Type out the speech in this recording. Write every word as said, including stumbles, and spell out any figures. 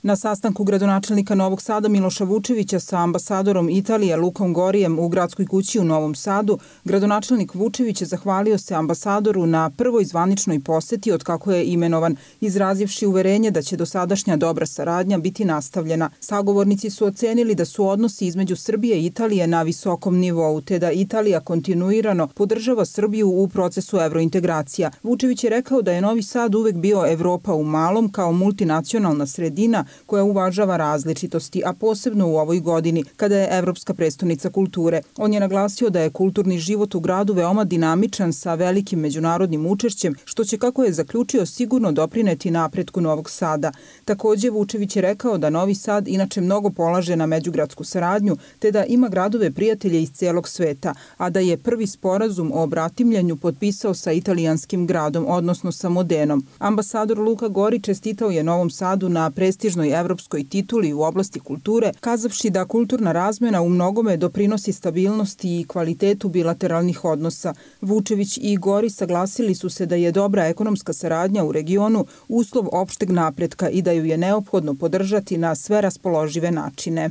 Na sastanku gradonačelnika Novog Sada Miloša Vučevića sa ambasadorom Italije Lukom Gorijem u Gradskoj kući u Novom Sadu, gradonačelnik Vučević zahvalio se ambasadoru na prvoj zvaničnoj poseti od kako je imenovan, izrazivši uverenje da će dosadašnja dobra saradnja biti nastavljena. Sagovornici su ocenili da su odnosi između Srbije i Italije na visokom nivou, te da Italija kontinuirano podržava Srbiju u procesu evrointegracija. Vučević je rekao da je Novi Sad uvek bio Evropa u malom kao multinacionalna sredina koja uvažava različitosti, a posebno u ovoj godini, kada je Evropska prestonica kulture. On je naglasio da je kulturni život u gradu veoma dinamičan sa velikim međunarodnim učešćem, što će, kako je zaključio, sigurno doprineti napretku Novog Sada. Takođe, Vučević je rekao da Novi Sad inače mnogo polaže na međugradsku saradnju, te da ima gradove prijatelje iz celog sveta, a da je prvi sporazum o bratimljenju potpisao sa italijanskim gradom, odnosno sa Modenom. Ambasador Luka Gori čestitao je Novom Sadu na prestižnoj evropskoj tituli u oblasti kulture, kazavši da kulturna razmena u mnogome doprinosi stabilnosti i kvalitetu bilateralnih odnosa. Vučević i Gori saglasili su se da je dobra ekonomska saradnja u regionu uslov opšteg napretka i da ju je neophodno podržati na sve raspoložive načine.